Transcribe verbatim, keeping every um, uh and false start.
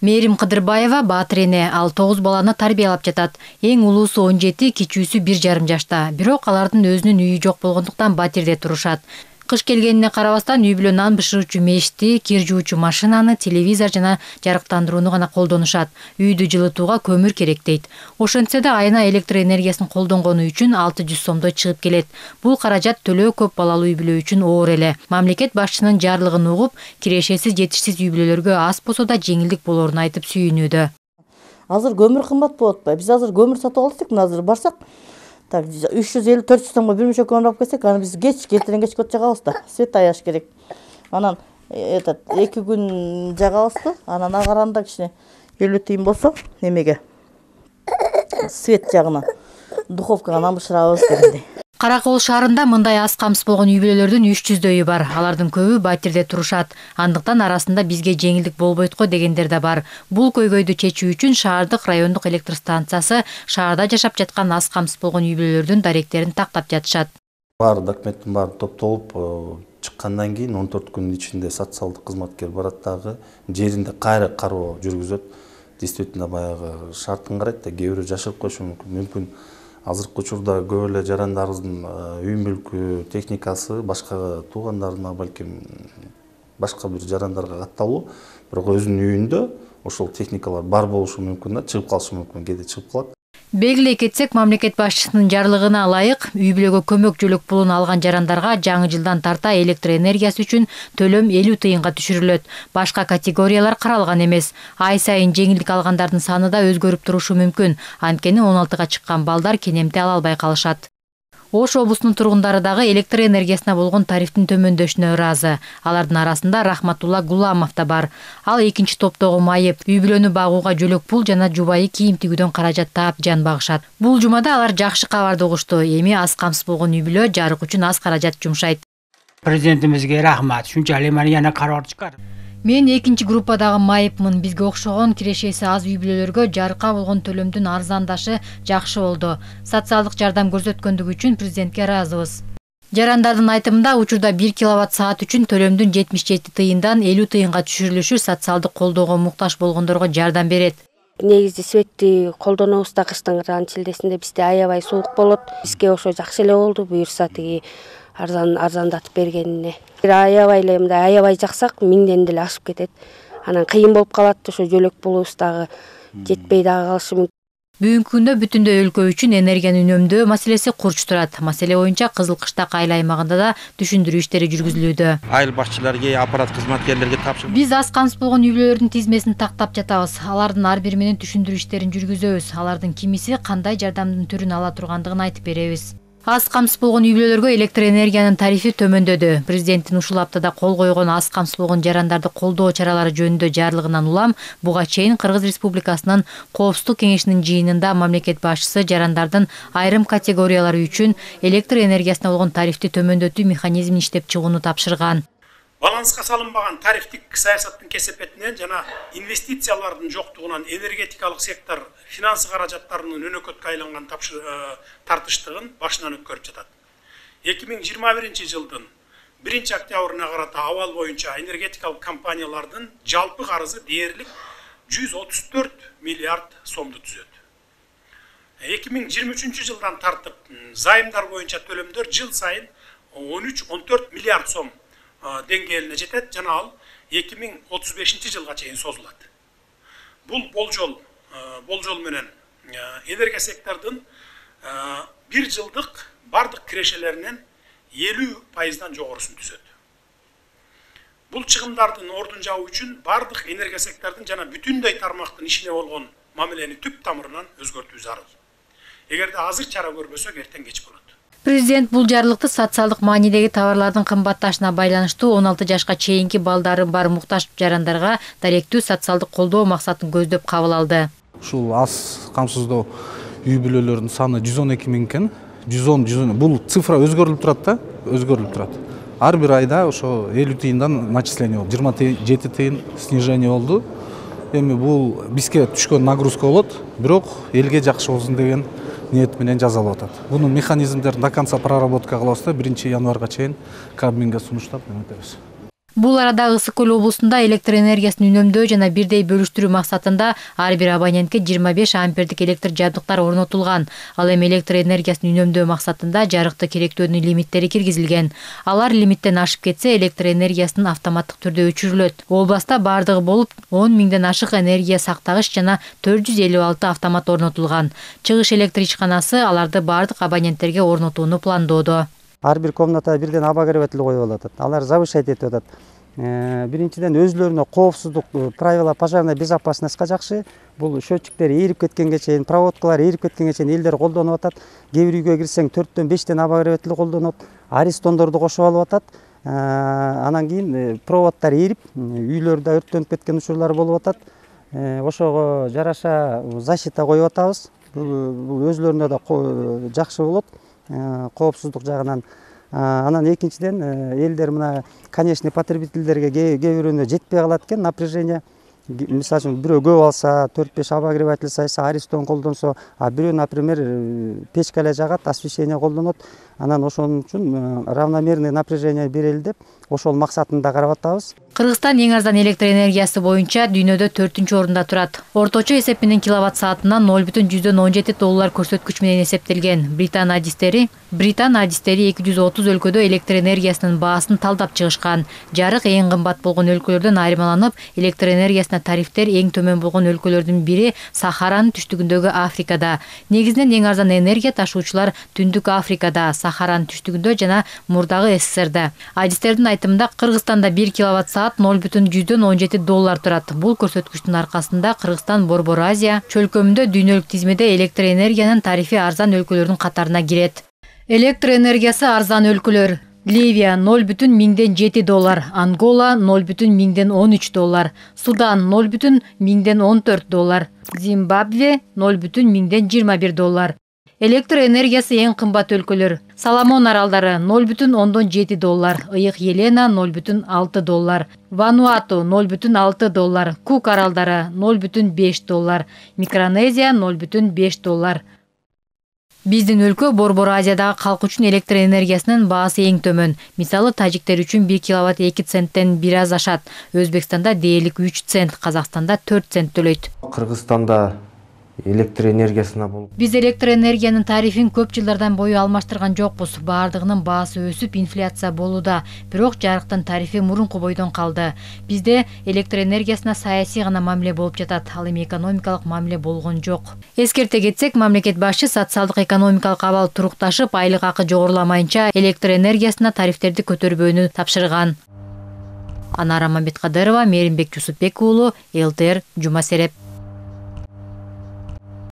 Мээрим Кыдырбаева баатыр эне, ал тогуз баланы тарбиялап жатат. Эң улуусу он жети, кичүүсү бир жарым жашта. Бирок алардын өзүнүн үйү жок болгондуктан батирде турушат. Кыш келгенине карабастан үй бүлө нан бышыруучу мешти, кир жуучу машинаны, телевизор жана жарыктандырууну гана колдонушат. Үйдү жылытууга көмүр керек дейт. Ошентсе да айына электр энергиясын колдонгону үчүн алты жүз сомдой чыгып келет. Бул каражат төлөө көп балалуу үй бүлө үчүн оор эле. Мамлекет башчынын жарлыгын угуп, кирешеси жетишсиз үй бүлөлөргө аз болсо да жеңилдик болоорун айтып сүйүнүүдө. Азыр көмүр кымбат болуп атпайбы? Биз азыр көмүр сатып алсак, мына азыр барсак, так үч жүз элүү төрт жүз сомго бир мөчө көмүр алып келсек, аны биз кеч кертен кеч көт жагабыз да. Свет аяш керек. Анан этот эки күн жагабыз да, анан агаранда кичине элүү тыйын болсо, немеге свет жагына духовкага нан бышырабыз дегендей. Каракол шаарында мындай аз камсыз болгон үй бүлөлөрдүн үч жүздөйү бар. Алардын көбү батирде турушат. Андыктан арасында бизге жеңилдик болбойт го дегендер да бар. Бул көйгөйдү чечүү үчүн шаардык райондук электр станциясы шаарда жашап жаткан аз камсыз болгон үй бүлөлөрдүн даректерин тактап жатышат. Баары документтин баары топтолуп чыккандан кийин он төрт күнүн ичинде социалдык кызматкер барат дагы жеринде кайра кароо жүргүзөт. Действительно баягы шартын карайт да, кээ бирөө жашырып коюшу мүмкүн. Мүмкүн азыркы учурда көп эле жарандардын үй мүлкү, техникасы башка туугандарына, балким башка бир жарандарга катталуу, бирок өзүнүн үйүндө ошол техникалар бар болушу мүмкүн да, чыгып калышы мүмкүн, кээде чыгып калат. Белгилей кетсек, мамлекет башчысынын жарлыгына ылайык үй бүлөгө көмөк жөлөк пулун алган жарандарга жаңы жылдан тарта электр энергиясы үчүн төлөм элүү тыйынга түшүрүлөт. Башка категориялар каралган эмес. Ай сайын жеңилдик алгандардын саны да өзгөрүп турушу мүмкүн. Анткени он алтыга чыккан балдар кенемте ала албай калышат. Ош облусунун тургундары дагы электр энергиясына болгон тарифтин төмөндөшүнө ыраазы. Алардын арасында Рахматулла Гуламов да бар. Ал экинчи топтогу майып, үй бүлөнү багууга жөлөк пул жана жубайы кийим тигүүдөн каражат таап жан багышат. Бул жумада алар жакшы кабарды угушту. Эми аз камсыз болгон үй бүлө жарык үчүн аз каражат жумшайт. Президентибизге рахмат. Шунчалык мени яна карар чыгарды. Мен экинчи группадагы майыпмын. Бизге окшогон кирешеси аз үй бүлөлөргө жарыкка болгон төлөмдүн арзандашы жакшы болду. Социалдык жардам көрсөткөндүгү үчүн президентке ыраазыбыз. Жарандардын айтымында учурда бир киловатт саат үчүн төлөмдүн жетимиш жети тыйындан элүү тыйынга түшүрүлүшү социалдык колдоого муктаж болгондорго жардам берет. Негизи светти колдонобуз да, кыштын шилдесинде бизде аябай суук болот. Бизге ошо жакшы эле болду, буюрса тиги арзан арзандатып бергенине. Аябай эле мындай аябай жаксак миңден деле ашып кетет. Анан кыйын болуп калат, ошо жөлөк пулубуз дагы жетпей дагы калышы мүмкүн. Бүгүнкү күндө бүтүндөй өлкө үчүн энергияны үнөмдөө маселеси курч турат. Маселе боюнча Кызыл Кыштак айыл аймагында да түшүндүрүү иштери жүргүзүлүүдө. Айыл башчыларга, аппарат кызматкерлерге тапшырып. Биз аз камсыз болгон үй бүлөлөрдүн тизмесин тактап жатабыз. Алардын ар бири менен түшүндүрүү иштерин жүргүзөбүз. Алардын кимиси кандай жардамдын түрүн ала тургандыгын айтып беребиз. Аз камсыз болгон үй бүлөлөргө электр энергиянын тарифи төмөндөдү. Президенттин ушул аптада кол койгон аз камсыз болгон жарандарды колдоо чаралары жөнүндө жарлыгынан улам буга чейин Кыргыз Республикасынын Коопсуздук кеңешинин жыйынында мамлекет башчысы жарандардын айрым категориялары үчүн электр энергиясына болгон тарифти төмөндөтүү механизмин иштеп чыгууну тапшырган. Баланска салынбаган тарифтик саясаттын кесепетинен жана инвестициялардын жоктугунан энергетикалык сектор финансы каражаттарынын өнөкөткө айланган тартыштыгын башынан өткөрүп жатат. эки миң жыйырма биринчи жылдын биринчи октябрына карата абал боюнча энергетикалык компаниялардын жалпы карызы дээрлик жүз отуз төрт миллиард сомду түзөт. эки миң жыйырма үчүнчү жылдан тартып займдар боюнча төлөмдөр жыл сайын он үч он төрт миллиард сом деңгээлине жетет жана ал эки миң отуз бешинчи жылга чейин созулат. Бул болжол болжол менен энергия сектордун бир жылдык бардык кирешелеринен элүү пайыздан жогорусун түзөт. Бул чыгымдардын ордун жабуу үчүн бардык энергия сектордун жана бүтүндөй тармактын ишине болгон мамилени түп тамырынан өзгөртүү зарыл. Эгерде азыр чара көрбөсөк эртең кеч болот. Президент бул жарлыкты социалдык маанидеги товарлардын кымбатташына байланыштуу он алты жашка чейинки балдары бар муктаж жарандарга даректүү социалдык колдоо максатын көздөп кабыл алды. Ушул аз камсыздоо үй бүлөлөрдүн саны жүз он эки миң экен. жүз он жүз он бул цифра өзгөрүлүп турат да, өзгөрүлүп турат. Ар бир айда ошо элүү тыйындан начисление болду. жыйырма жети тыйын снижение болду. Эми бул бизге түшкөн нагрузка болот, бирок элге жакшы болсун деген ниет менен жазалып атат. Бунун механизмдерин до конца проработка кылабыз да биринчи январга чейин Кабминге сунуштап өтөбүз. Бул арада Ысык Көл облусунда электр энергиясын үнөмдөө жана бирдей бөлүштүрүү максатында ар бир абонентке жыйырма беш ампердик электр жабдыктар орнотулган. Ал эми электр энергиясын үнөмдөө максатында жарыкты керектөөнүн лимиттери киргизилген. Алар лимиттен ашып кетсе, электр энергиясын автоматтык түрдө өчүрүлөт. Областа бардыгы болуп он миңден ашык энергия сактагыч жана төрт жүз элүү алты автомат орнотулган. Чыгыш электр ичканасы аларды бардык абоненттерге орнотууну пландоодо. Ар бир комнатага бирден обогреватель коюп атат. Алар завышать этип атат. Биринчиден өзлөрүнө коопсуздук правила пожарной безопасностька жакшы. Бул счетчиктер ээрип кеткенге чейин, проводкалар ээрип кеткенге чейин элдер колдонуп атат. Кээ бир үйгө кирсең төрттөн бештен обогреватель колдонот. Аристондорду кошуп алып атат. Анан кийин проводдор ээрип, үйлөрдө өрттөнүп кеткен учурлар болуп атат. Ошого жараша защита коюп атабыз. Бул өзлөрүнө да жакшы болот. Коопсуздук жагынан. Анан экинчиден элдер мына конечный потребительдерге кээ бирөөнө жетпей калат экен напряжение. Мисалы үчүн бирөө көп алса, төрт беш обогреватель сайса, аристон колдонсо, а бирөө, например, печка эле жагат, освещение колдонот. Анан ошон үчүн равномерный напряжение берели деп, ошол максатында карап атабыз. Кыргызстан эң арзан электр энергиясы боюнча дүйнөдө төртүнчү орунда турат. Орточо эсеп менен киловатт саатына ноль бүтүн жүздөн он жети доллар көрсөткүч менен эсептелген. Британ адистери Британ адистери эки жүз отуз өлкөдө электр энергиясынын баасын талдап чыгышкан. Жарык эң кымбат болгон өлкөлөрдөн айырмаланып, электр энергиясына тарифтер эң төмөн болгон өлкөлөрдүн бири Сахаранын түштүгүндөгү Африкада. Негизинен эң арзан энергия ташуучулар Түндүк Африкада, Сахаранын түштүгүндө жана мурдагы СССРда. Адистердин айтымында Кыргызстанда бир киловатт саат ноль бүтүн жүздөн он жети доллар турат. Бул көрсөткүчтүн аркасында Кыргызстан Борбор Азия чөлкөмүндө дүйнөлүк тизмеде электр энергиянын тарифи арзан өлкөлөрдүн катарына кирет. Электр энергиясы арзан өлкөлөр: Ливия ноль бүтүн миңден жети доллар, Ангола ноль бүтүн миңден он үч доллар, Судан ноль бүтүн миңден он төрт доллар, Зимбабве ноль бүтүн миңден жыйырма бир доллар. Электр энергиясы эң кымбат өлкөлөр: Соломон аралдары ноль бүтүн ондон жети доллар, Ыйык Елена ноль бүтүн алты доллар, Вануату ноль бүтүн алты доллар, Кук аралдары ноль бүтүн беш доллар, Микронезия ноль бүтүн беш доллар. Биздин өлкө Борбор Азиядагы калк үчүн электр энергиясынын баасы эң төмөн. Мисалы, тажиктер үчүн бир киловатт эки центтен бир аз ашат. Өзбекстанда дээрлик үч цент, Казакстанда төрт цент төлөйт. Кыргызстанда электр энергиясына болуп биз электр энергиянын тарифин көп жылдардан бою алмаштырган жокпуз. Баардыгынын баасы өсүп, инфляция болууда. Бирок жарыктын тарифи мурунку бойдон калды. Бизде электр энергиясына саясий гана мамиле болуп жатат. Ал эми экономикалык мамиле болгон жок. Эскерте кетсек, мамлекет башчы социалдык экономикалык абал турукташып, айлык акы жогоруламайынча электр энергиясына тарифтерди көтөрбөөнү тапшырган. Анара Мамбеткадырова, Мээримбек Жусупбек уулу, эл тэ эр, Жума Сереп.